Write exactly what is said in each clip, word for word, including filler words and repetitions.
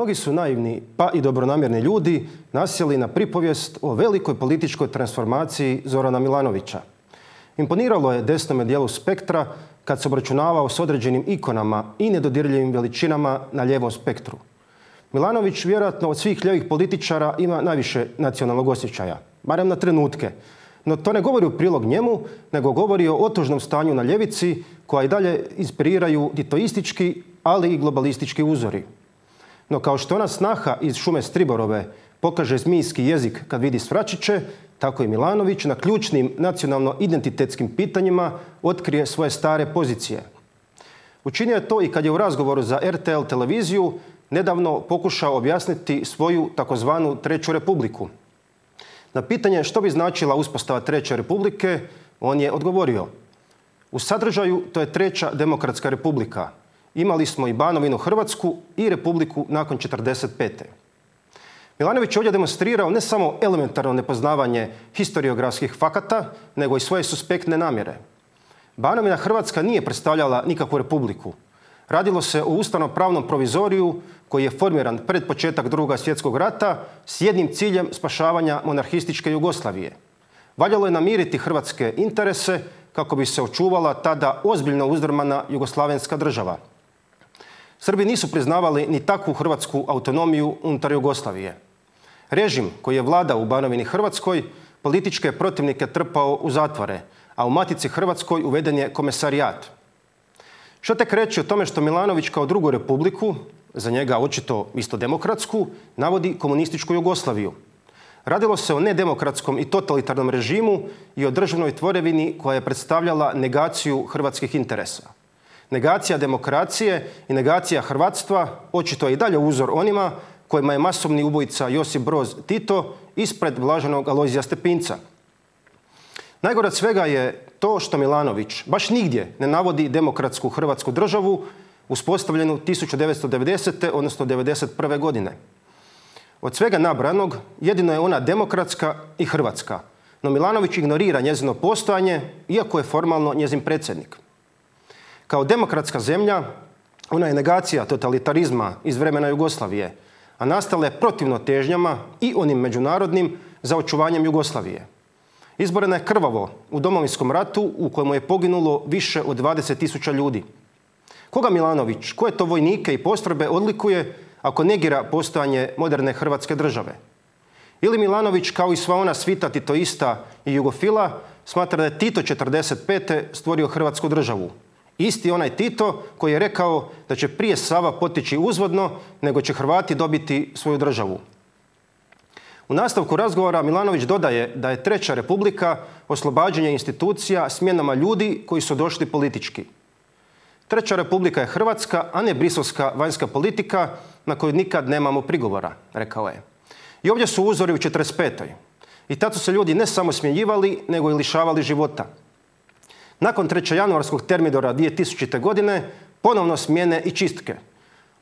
mnogi su naivni, pa i dobronamjerni ljudi nasjeli na pripovijest o velikoj političkoj transformaciji Zorana Milanovića. Imponiralo je desnome dijelu spektra kad se obračunavao s određenim ikonama i nedodirljivim veličinama na lijevom spektru. Milanović vjerojatno od svih lijevih političara ima najviše nacionalnog osjećaja, barem na trenutke. No to ne govori u prilog njemu, nego govori o otužnom stanju na ljevici koja i dalje inspiriraju titoistički, ali i globalistički uzori. No kao što ona snaha iz Šume Striborove pokaže zmijski jezik kad vidi svračiće, tako i Milanović na ključnim nacionalno-identitetskim pitanjima otkrije svoje stare pozicije. Učinio je to i kad je u razgovoru za R T L televiziju nedavno pokušao objasniti svoju takozvanu Treću republiku. Na pitanje što bi značila uspostava Treće republike, on je odgovorio: u sadržaju to je Treća demokratska republika. Imali smo i Banovinu Hrvatsku i republiku nakon četrdeset pete. Milanović je ovdje demonstrirao ne samo elementarno nepoznavanje historiografskih fakata, nego i svoje suspektne namjere. Banovina Hrvatska nije predstavljala nikakvu republiku. Radilo se o ustavno-pravnom provizoriju koji je formiran pred početak Drugog svjetskog rata s jednim ciljem spašavanja monarhističke Jugoslavije. Valjalo je namiriti hrvatske interese kako bi se očuvala tada ozbiljno uzdrmana jugoslavenska država. Srbi nisu priznavali ni takvu hrvatsku autonomiju unutar Jugoslavije. Režim koji je vladao u Banovini Hrvatskoj političke protivnike trpao u zatvore, a u Matici Hrvatskoj uveden je komesarijat. Što tek reći o tome što Milanović kao drugu republiku, za njega očito isto demokratsku, navodi komunističku Jugoslaviju. Radilo se o nedemokratskom i totalitarnom režimu i o državnoj tvorevini koja je predstavljala negaciju hrvatskih interesa. Negacija demokracije i negacija hrvatstva očito je i dalje uzor onima kojima je masovni ubojica Josip Broz Tito ispred blaženog Alojzija Stepinca. Najgore od svega je to što Milanović baš nigdje ne navodi demokratsku hrvatsku državu uspostavljenu tisuću devetsto devedesete. odnosno devedeset prve. godine. Od svega nabranog jedino je ona demokratska i hrvatska, no Milanović ignorira njezino postojanje iako je formalno njezin predsjednik. Kao demokratska zemlja ona je negacija totalitarizma iz vremena Jugoslavije, a nastala je protivno težnjama i onim međunarodnim za očuvanjem Jugoslavije. Izborena je krvavo u Domovinskom ratu u kojemu je poginulo više od dvadeset tisuća ljudi. Koga Milanović, koje to vojnike i postrojbe odlikuje ako negira postojanje moderne hrvatske države? Ili Milanović, kao i sva ona svita titoista i jugofila, smatra da je Tito četrdeset pete. stvorio hrvatsku državu? Isti onaj Tito koji je rekao da će prije Sava poteći uzvodno nego će Hrvati dobiti svoju državu. U nastavku razgovora Milanović dodaje da je Treća republika oslobađanje institucija smjenama ljudi koji su došli politički. Treća republika je hrvatska, a ne briselska vanjska politika na koju nikad nemamo prigovora, rekao je. I ovdje su uzori u četrdeset petoj. I tad su se ljudi ne samo smjenjivali, nego i lišavali života. Nakon trećejanuarskog termidora dvije tisućite. godine ponovno smjene i čistke.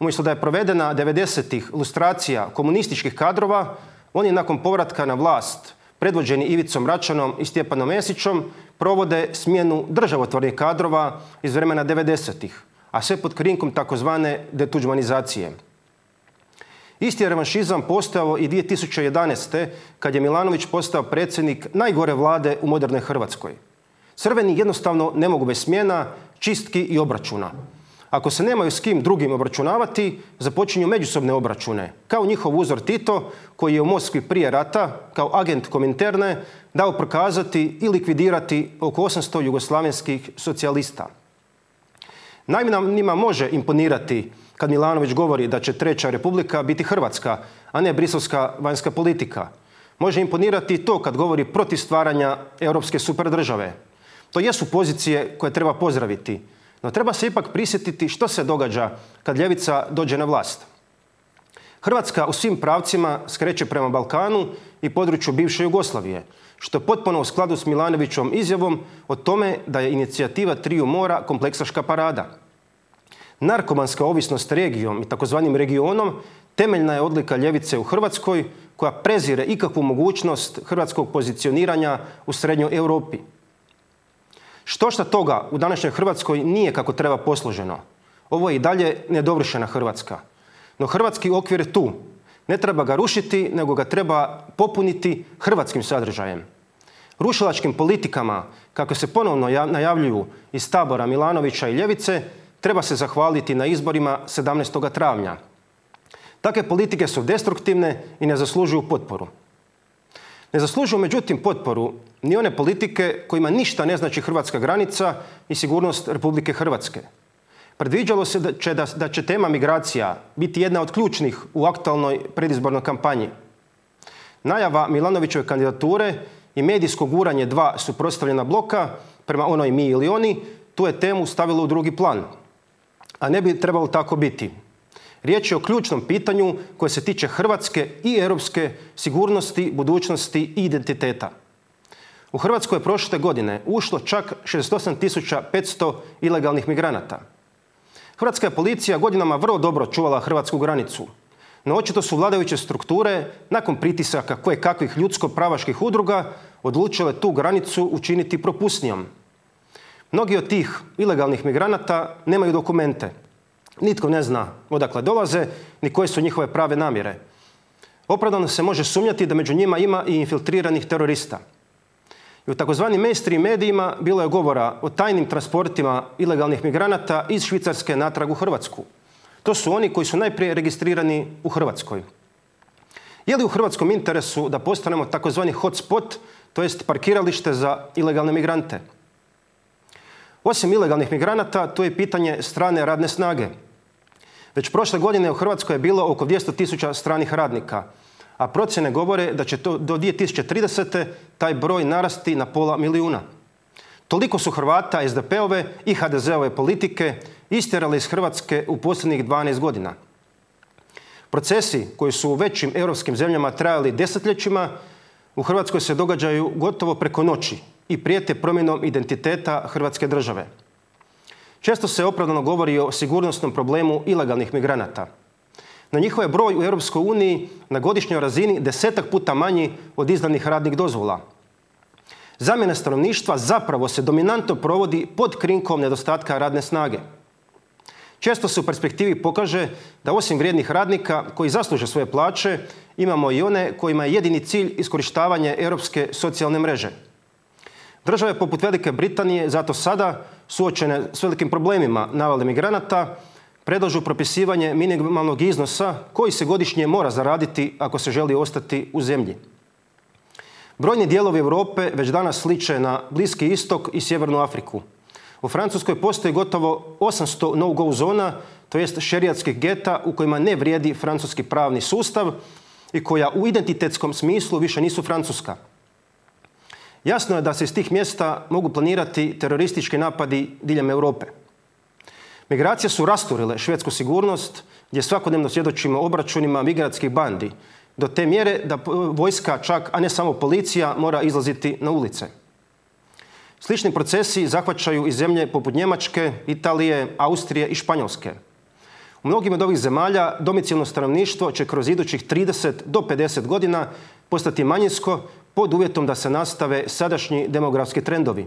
Umjesto da je provedena devedesetih lustracija komunističkih kadrova, oni nakon povratka na vlast, predvođeni Ivicom Račanom i Stjepanom Mesićom, provode smjenu državotvornih kadrova iz vremena devedesetih, a sve pod krinkom takozvane detuđmanizacije. Isti je revanšizam postojao i dvije tisuće jedanaeste. kad je Milanović postao predsjednik najgore vlade u modernoj Hrvatskoj. Crveni jednostavno ne mogu bez smjena, čistki i obračuna. Ako se nemaju s kim drugim obračunavati, započinju međusobne obračune, kao njihov uzor Tito, koji je u Moskvi prije rata, kao agent Kominterne, dao prokazati i likvidirati oko osamsto jugoslavenskih socijalista. Naivnima može imponirati kad Milanović govori da će Treća republika biti hrvatska, a ne briselska vanjska politika. Može imponirati i to kad govori protiv stvaranja europske superdržave. To jesu pozicije koje treba pozdraviti. No treba se ipak prisjetiti što se događa kad ljevica dođe na vlast. Hrvatska u svim pravcima skreće prema Balkanu i području bivše Jugoslavije, što je potpuno u skladu s Milanovićom izjavom o tome da je inicijativa Triju mora kompleksaška parada. Narkomanska ovisnost regijom i takozvanim regionom temeljna je odlika ljevice u Hrvatskoj koja prezire ikakvu mogućnost hrvatskog pozicioniranja u srednjoj Europi. Štošta toga u današnjoj Hrvatskoj nije kako treba posloženo. Ovo je i dalje nedovršena Hrvatska. No hrvatski okvir je tu. Ne treba ga rušiti, nego ga treba popuniti hrvatskim sadržajem. Rušilačkim politikama, kako se ponovno najavljuju iz tabora Milanovića i ljevice, treba se zahvaliti na izborima sedamnaestog travnja. Takve politike su destruktivne i ne zaslužuju potporu. Ne zaslužuju međutim potporu ni one politike kojima ništa ne znači hrvatska granica i sigurnost Republike Hrvatske. Predviđalo se da će, da, da će tema migracija biti jedna od ključnih u aktualnoj predizbornoj kampanji. Najava Milanovićeve kandidature i medijsko guranje dva suprotstavljena bloka prema onoj mi ili oni, tu je temu stavilo u drugi plan. A ne bi trebalo tako biti. Riječ je o ključnom pitanju koje se tiče hrvatske i europske sigurnosti, budućnosti i identiteta. U Hrvatskoj je prošle godine ušlo čak šezdeset osam tisuća petsto ilegalnih migranata. Hrvatska je policija godinama vrlo dobro čuvala hrvatsku granicu, no očito su vladajuće strukture nakon pritisaka kojekakvih ljudsko-pravaških udruga odlučile tu granicu učiniti propusnijom. Mnogi od tih ilegalnih migranata nemaju dokumente. Nitko ne zna odakle dolaze ni koje su njihove prave namjere. Opravdano se može sumnjati da među njima ima i infiltriranih terorista. I u takozvanim mainstream medijima bilo je govora o tajnim transportima ilegalnih migranata iz Švicarske natrag u Hrvatsku. To su oni koji su najprije registrirani u Hrvatskoj. Je li u hrvatskom interesu da postanemo takozvani hotspot, to jest parkiralište za ilegalne migrante? Osim ilegalnih migranata, to je pitanje strane radne snage. Već prošle godine u Hrvatskoj je bilo oko dvjesto tisuća stranih radnika, a procjene govore da će to do dvije tisuće tridesete taj broj narasti na pola milijuna. Toliko su Hrvata es de pe-ove i ha de ze-ove politike istjerali iz Hrvatske u posljednjih dvanaest godina. Procesi koji su u većim europskim zemljama trajali desetljećima, u Hrvatskoj se događaju gotovo preko noći i prijete promjenom identiteta Hrvatske države. Često se opravdano govori o sigurnosnom problemu ilegalnih migranata. No njihov je broj u Europskoj uniji na godišnjoj razini desetak puta manji od izdanih radnih dozvola. Zamjena stanovništva zapravo se dominantno provodi pod krinkom nedostatka radne snage. Često se u perspektivi pokaže da osim vrijednih radnika koji zasluže svoje plaće, imamo i one kojima je jedini cilj iskorištavanje europske socijalne mreže. Države poput Velike Britanije zato sada, suočene s velikim problemima navale migranata, predlažu propisivanje minimalnog iznosa koji se godišnje mora zaraditi ako se želi ostati u zemlji. Brojni dijelovi Europe već danas sliče na Bliski istok i Sjevernu Afriku. U Francuskoj postoji gotovo osamsto no-go zona, to jest šerijatskih geta u kojima ne vrijedi francuski pravni sustav i koja u identitetskom smislu više nisu francuska. Jasno je da se iz tih mjesta mogu planirati teroristički napadi diljem Europe. Migracije su rasturile švedsku sigurnost, gdje svakodnevno svjedočimo obračunima migrantskih bandi, do te mjere da vojska čak, a ne samo policija, mora izlaziti na ulice. Slični procesi zahvaćaju i zemlje poput Njemačke, Italije, Austrije i Španjolske. U mnogim od ovih zemalja domicilno stanovništvo će kroz idućih trideset do pedeset godina postati manjinsko pod uvjetom da se nastave sadašnji demografski trendovi.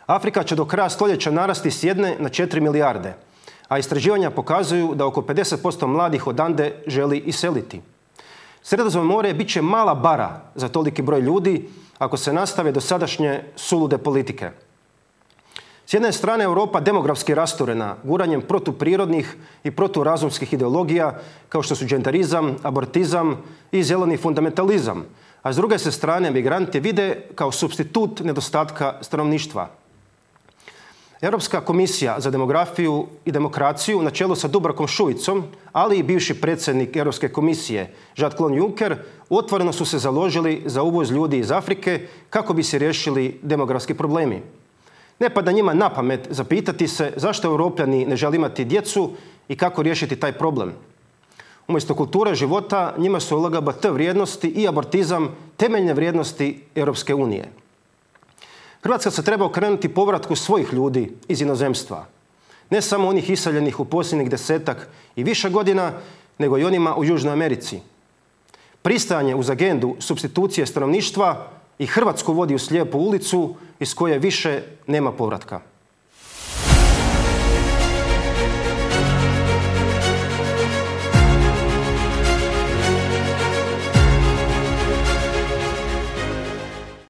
Afrika će do kraja stoljeća narasti s jedne na četiri milijarde, a istraživanja pokazuju da oko pedeset posto mladih odande želi iseliti. Sredozemno more bit će mala bara za toliki broj ljudi ako se nastave dosadašnje sulude politike. S jedne strane Europa demografski rasturena guranjem protuprirodnih i proturazumskih ideologija kao što su dženderizam, abortizam i zeleni fundamentalizam, a s druge se strane migranti vide kao supstitut nedostatka stanovništva. Europska komisija za demografiju i demokraciju na čelu sa Dubravkom Šuicom, ali i bivši predsjednik Europske komisije Jean-Claude Juncker otvoreno su se založili za uvoz ljudi iz Afrike kako bi se riješili demografski problemi. Ne pada njima na pamet zapitati se zašto Europljani ne žele imati djecu i kako riješiti taj problem. Umjesto kulture života njima su el ge be te vrijednosti i abortizam temeljne vrijednosti Europske unije. Hrvatska se treba okrenuti povratku svojih ljudi iz inozemstva. Ne samo onih iseljenih u posljednjih desetak i više godina, nego i onima u Južnoj Americi. Pristajanje uz agendu supstitucije stanovništva i Hrvatsku vodi u slijepu ulicu iz koje više nema povratka.